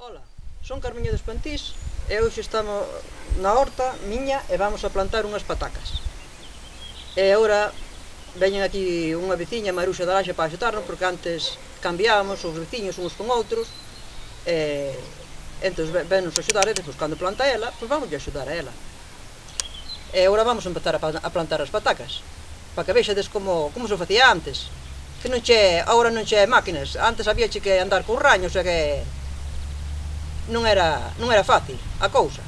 Ola, son Carmiño dos Pantís e hoxe estamos na horta miña e vamos a plantar unhas patacas. E agora veñen aquí unha veciña, Maruxa da Laxe, para axutarnos, porque antes cambiábamos os veciños uns con outros e entón vennos axudar e despois cando planta ela, pois vamos axudar a ela. E agora vamos a empezar a plantar as patacas para que vexades como se facía antes, que non che, agora non che máquinas, antes había que andar con raños e que non era fácil a cousa.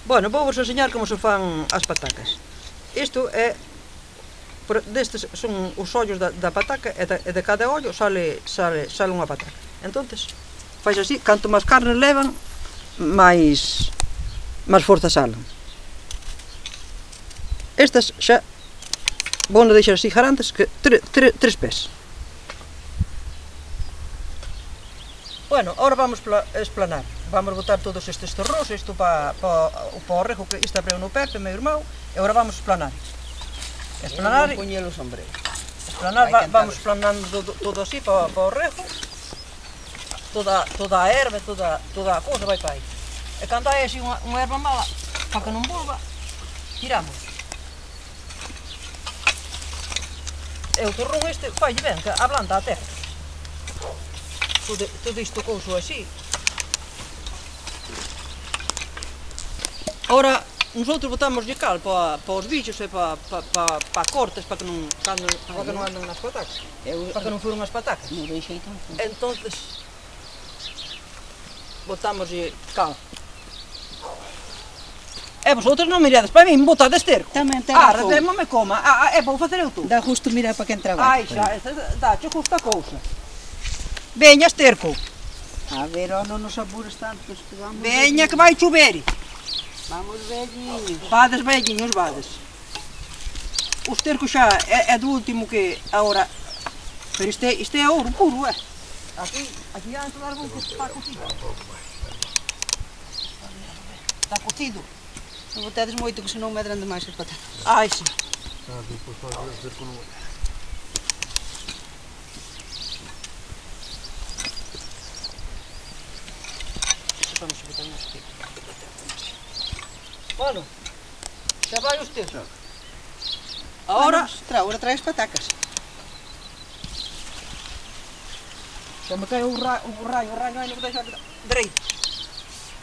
Bueno, vou vos enseñar como se fan as patacas. Isto é, destes son os ollos da pataca e de cada ollo sale unha pataca. Entonces, fais así, canto máis carne levan, máis forza salen. Estas xa vou non deixar así garantes que 3 pés. Bueno, ahora vamos a esplanar. Vamos botar todos estes torros, isto para o rejo, que isto apreu no Pepe, meu irmão, e agora vamos esplanar. Esplanar, vamos esplanando todo así para o rejo. Toda a erva, toda a cousa vai para aí. E cando hai así unha erva mala, para que non volva, tiramos. E o torrón este fai ben, que ablanda a terra. Todo isto couso así. Ora, nosotros botamos cal para os bichos e para cortes, para que non anden nas patacas. Para que non furon as patacas. Entonces, botamos cal. E vosotros non mirades para min, botades esterco. Tamén ten razón. Non me coma, vou facer eu tú. Dá justo mirar para quen traballa. Ai, xa, dáche justa cousa. Veña, esterco. A ver, non nos apures tanto. Veña, que vai chover. Vamos velliños. Vades velliños, vades. O esterco xa é do último que agora. Pero isto é ouro puro, é. Aquí antes do árbol que está cocido. Está cocido. Non botedes moito que senón medran demais as patatas. Ai, sí. Vamos a botar unos tipos. Bueno, xa vai o esterco. Agora trae as patacas. xa me cae o raio aí non me deixa dereito.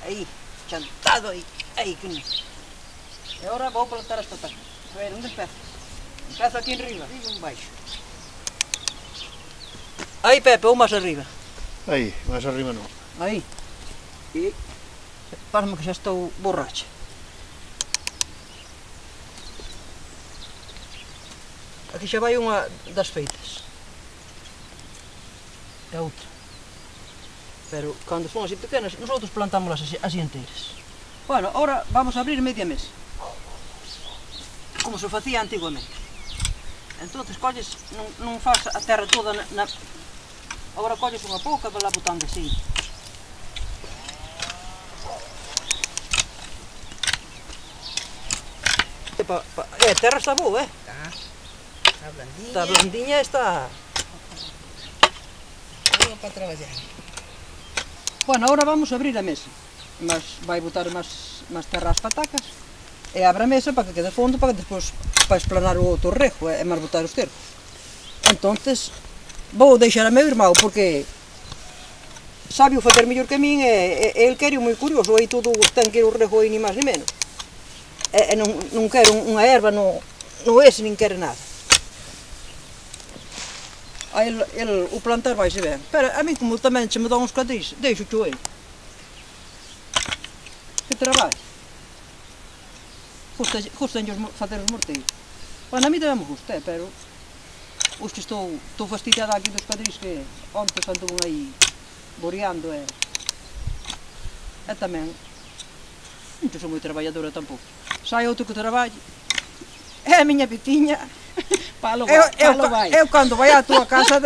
Aí, chantado aí que non. E agora vou plantar as patacas. A ver, onde empezo? Empezo aquí en riba. Arriba en baixo. Aí, Pepe, ou máis arriba. Aí, máis arriba non. Aí. E parme que xa estou borracha. Aquí xa vai unha das feitas. E outra. Pero cando son así pequenas, nosotros plantámolas así enteiras. Bueno, ahora vamos a abrir media mesa. Como se facía antiguamente. Entonces colles, non faz a terra toda na... Agora colles unha pouca e vai lá botando así. A terra está boa, Está blandinha. Está blandinha e está... Boa para traballar. Bueno, agora vamos a abrir a mesa. Vai botar máis terra ás patacas e abre a mesa para que quede fondo, para que despois para esplanar o outro rejo e máis botar o esterco. Entonces, vou deixar a meu irmão porque sabe o facer mellor que min e el quere moi curioso, aí todo ten que ir o rejo aí ni máis ni menos. E non quero unha erva, non ese, nin quere nada. A el o plantar vaise ben, pero a mí como tamén se me dá uns cadris, deixo cho ele. Que traballo. Gustan facer os morteiros. Bueno, a mí tamén me gusta, pero os que estou fastidiada aquí dos cadris que ontes anduvo aí boreando e tamén non sou moi traballadora tampouco. Sai outro que traballe. É a miña veciña. Palo vai. Eu cando vai á túa casa,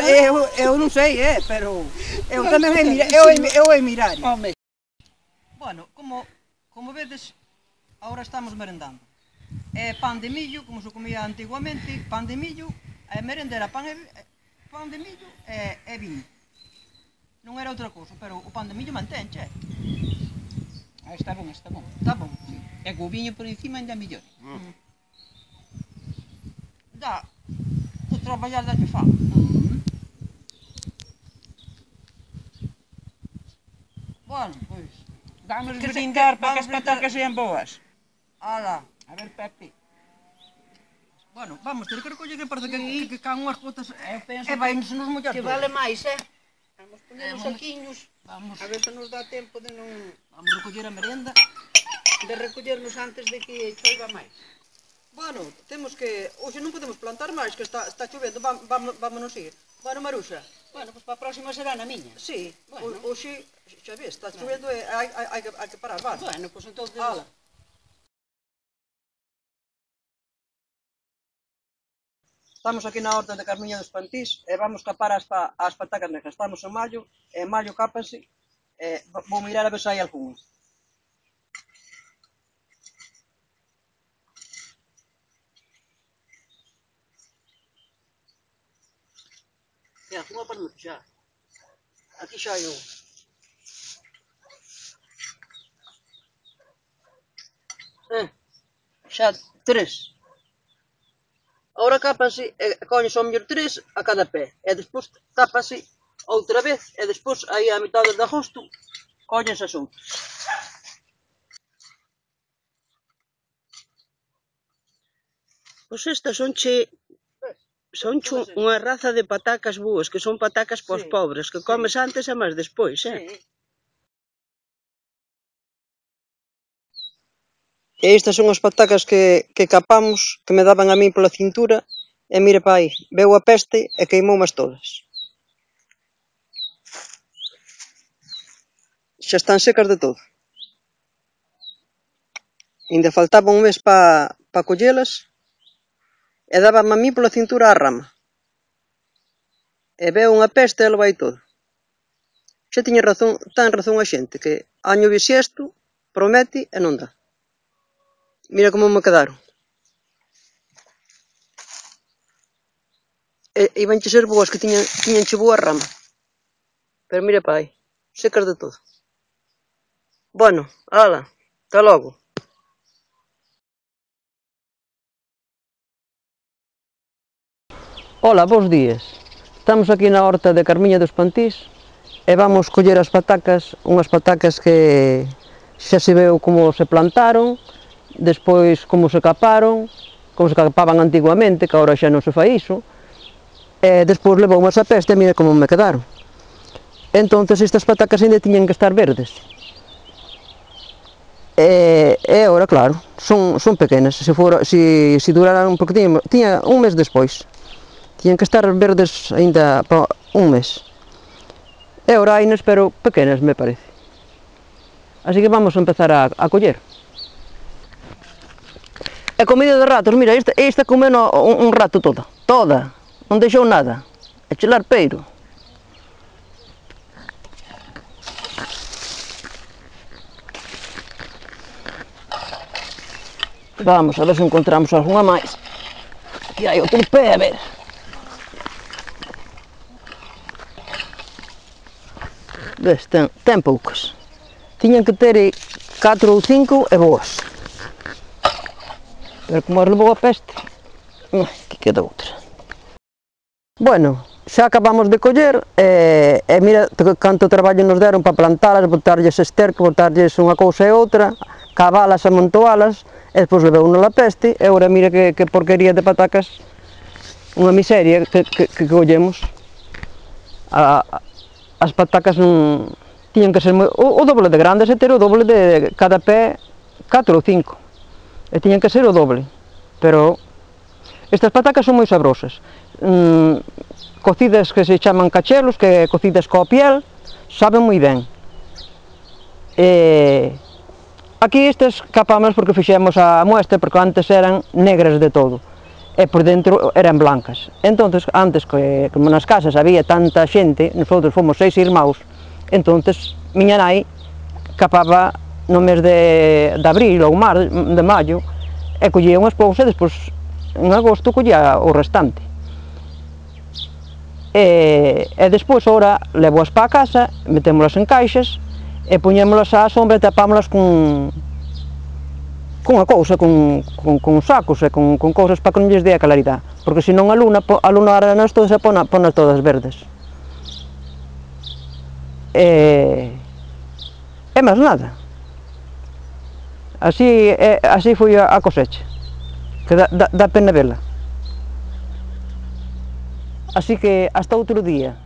eu non sei, pero eu tamén é mirar. Bueno, como vedes, agora estamos merendando. Pan de millo, como se comía antiguamente, pan de millo, a merenda era pan pan de millo e viño. Non era outra cousa, pero o pan de millo mantenche. Está bon, está bon. Está bon. Sí. E co viño por encima ainda mellor. Dá, o traballar da que fa. Bueno, pois. Vamos Que se- brindar para que vamos as patacas sean boas. Ala. A ver, Pepe. Bueno, vamos ter que recoller que parece que caen unhas gotas Eu penso e vai nos mollar que todo. vale máis, Vamos poner os vamos- saquiños. Vamos, A ver se nos dá tempo de non vamos recoller a merenda. de recollernos antes de que choiva máis. Bueno, temos que... Hoxe non podemos plantar máis, que está chovendo, vámonos ir. Bueno, Maruxa, Bueno, pois para a próxima será na miña. sí, Bueno. hoxe, xa ves, está chovendo e hai que parar, vale. Bueno, pois entonces... Ala. Estamos aquí na horta de Carmiña dos Pantís e vamos capar as patacas negras. Estamos en maio, e en maio cápanse, e vou mirar a ver se hai algún. E algunha para moito xa. Aquí xa hai un. Xa 3. Ahora cápanse e coñes ao mellor 3 a cada pé. E despois tápase outra vez e despois aí a mitad de agosto coñes as outras. Pois estas sonche unha raza de patacas boas, que son patacas pos Sí, pobres, que comes antes e máis despois, Sí. E estas son as patacas que capamos, que me daban a mí pola cintura, e mire pa aí, veu a peste e queimoumas todas. Xa están secas de todo. Ainda faltaba un mes pa collelas, e dábame a mí pola cintura a rama. E veu unha peste e lo vai todo. Xa tiña razón, tan razón a xente, que año bisiesto promete e non dá. Mira como me quedaron. E ibanche ser boas, que tiñanche boa rama. Pero mira pa aí, secas de todo. Bueno, ala, ata logo. Ola, bons días. Estamos aquí na horta de Carmiña dos Pantís e vamos coller as patacas, unhas patacas que xa se veu como se plantaron, despois como se caparon, como se capaban antiguamente, que agora xa non se fai iso, e despois levou unhas a peste e mira como me quedaron. Entonces estas patacas ainda tiñan que estar verdes. E agora, claro, son pequenas, se duraran, porque tiña un mes despois. Tiñan que estar verdes ainda para un mes. E agora hainas, pero pequenas, me parece. Así que vamos a empezar a coller. E comida de ratos, mira, esta comeu un rato toda, non deixou nada. E chelar peiro. Vamos a ver se encontramos algunha máis. Aquí hai outro pé, a ver. Ves, ten poucas. Tiñan que ter 4 ou 5 e boas. Pero como as levou a peste, aquí queda outra. Bueno, xa acabamos de coller e mira canto traballo nos deron para plantalas, botarlles esterco, botarlles unha cousa e outra, cavalas, amontoalas, e despois levou unha a peste, e agora mira que porquería de patacas, unha miseria que collemos. As patacas non tiñan que ser o doble de grandes e ter o doble de cada pé 4 ou 5. E tiñan que ser o doble. Pero estas patacas son moi sabrosas. Cocidas que se chaman cachelos, que cocidas coa piel, saben moi ben. Aquí estas capamos porque fixemos a muestra, porque antes eran negras de todo. E por dentro eran blancas. Entonces, antes, como nas casas había tanta xente, nosotros fomos 6 irmãos, entonces miña nai capaba no mes de abril ou de maio, e collía unhas poucas e despois en agosto collía o restante. e despois ora levo-as para a casa, metémolas en caixas e poñémolas á sombra e tapámolas con unha cousa, con sacos e con cousas para que non lles dé a claridade, porque senón a luna aranas todas e ponas todas verdes. E máis nada. Así foi a cosecha, que dá pena vela. Así que hasta outro día.